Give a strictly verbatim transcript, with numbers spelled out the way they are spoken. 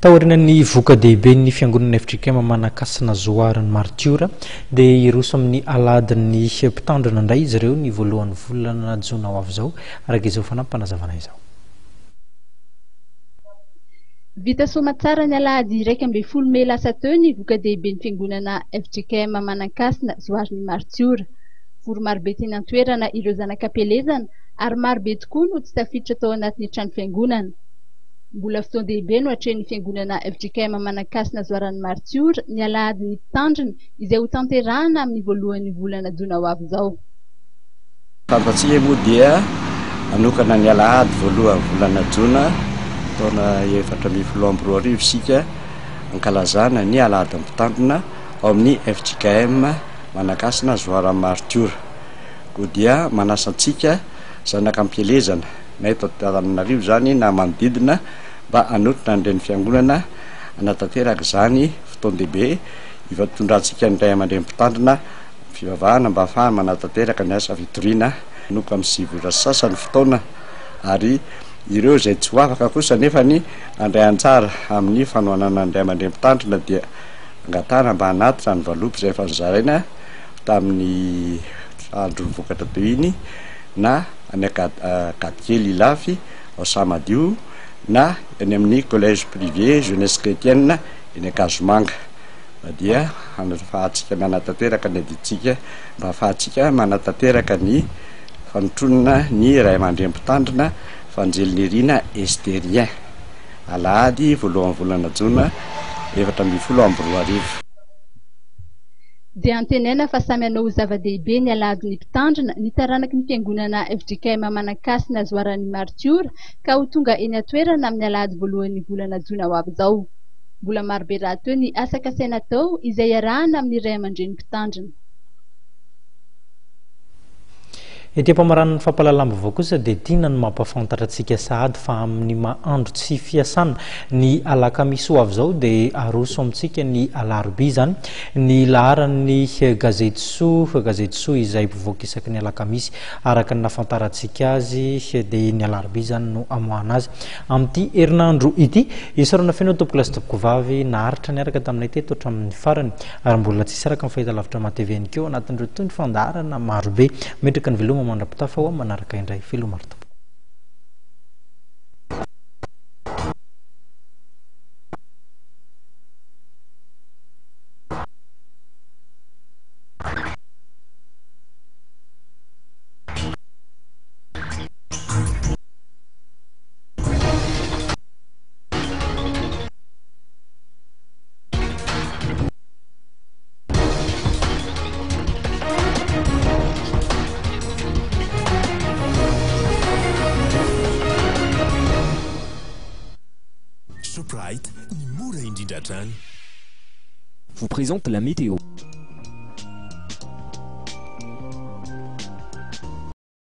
Taorian'ny voka-dehiben'ny fiangonana F J K M Manankasina Zoaran'ny Martiora dia hiroso amin'ny alahadin'ny mpitandrina indray izy ireo ny voalohan'ny volana jona ho avy izao, araka izao fanampin'fanazavana izao. Vita soamantsara ny alahady iraika ambin'ny folo mey lasa teo ny voka-dehiben'ny fiangonana F J K M Manankasina Zoaran'ny Martiora. Vory marobe teny an-toerana ireo zanak'ampielezana ary marobe tokoa no tsy tafiditra tao anatin'ny trano fiangonana. Mbola fotoan-dehibe no atrehin'ny fiangonana F J K M Manankasina Zoaran'ny Martiora ny alahadin'ny mpitandrina izay ho tanterahana amin'ny voalohan'ny volana jona ho avy izao. Fantatsika moa dia manokana ny alahady voalohany volana jona taona efatra ambin'ny folo amby roa arivo sika ankalazana ny alahady mpitandrina ao amin'ny F J K M Manankasina Zoaran'ny Martiora. Ko dia manasa antsika zanaka ampielezana na eto Antananarivo zany na manodidina mba hanotrona an'ireny fiangonana anatanteraka zany fotoan-dehibe ivatondrantsika ny ray aman-dreny mpitandrina fivavahana mba ahafahana manatanteraka ny asa fitoriana noka amin'ny sivy ora sasany fotoana. Ary ireo zay tsy ho afaka kosa nefa ny andray anjara amin'ny fanohanana ny ray aman-dreny mpitandrina dia angatahana mba hanatitra ny valopy zay efa nozaraina tamin'ny andro vokatra teo iny, na any Ankadikely Ilafy ao Samadio, na any amin'ny collège privé Jeunesse Chrétienne eny Ankazomanga, dia ahafahantsika manatanteraka ny adidintsika mba ahafahantsika manatanteraka ny fanotronona ny ray aman-dreny mpitandrina Fanjelinirina Esterien, alahady voalohan'ny volana jona efatra ambin'ny folo amby roa arivo. Dia antenaina fa samy hanao ho zava-dehibe ny alahadin'ny mpitandrina ny taranaky ny fiangonana F J K M Manankasina Zoaran'ny Martiora ka ho tonga eny an-toerana amin'ny alahady voalohan'ny volana jona ho avy izao. Mbola marobe rahateo ny asa kasaina atao izay iarahana amin'ny ray aman-dreny mpitandrina. Ety am-pamaran'ny fampahalalam-baovao kosa dia tiana ny mampafantatra antsika sahady fa amin'ny mahandro tsy fiasana ny alakamisy ho avy izao dia aroso amintsika ny alarobia zany ny laharan'ny gazety Soa, gazety Soa izay mpivoaka isaky ny alakamisy. Araka ny nafantarantsika azy dia ny alarobia zany no amoahana azy amin'ity herinandro ity. Isaorana feno tompoko lahy sy tompoko vavy naharitra niaraka taminay teto hatramin'ny farany ary mbola tsy saraka amin'ny fahitalavitra M A T V ihany keo anatin'ireo toy ny fandaharana marobe. Metraka ny veloma mandra-pitafa ho manaraka indray. Veloma ry tompoko. Shoprite, ny mora indrindra hatrany. Vous présente la météo.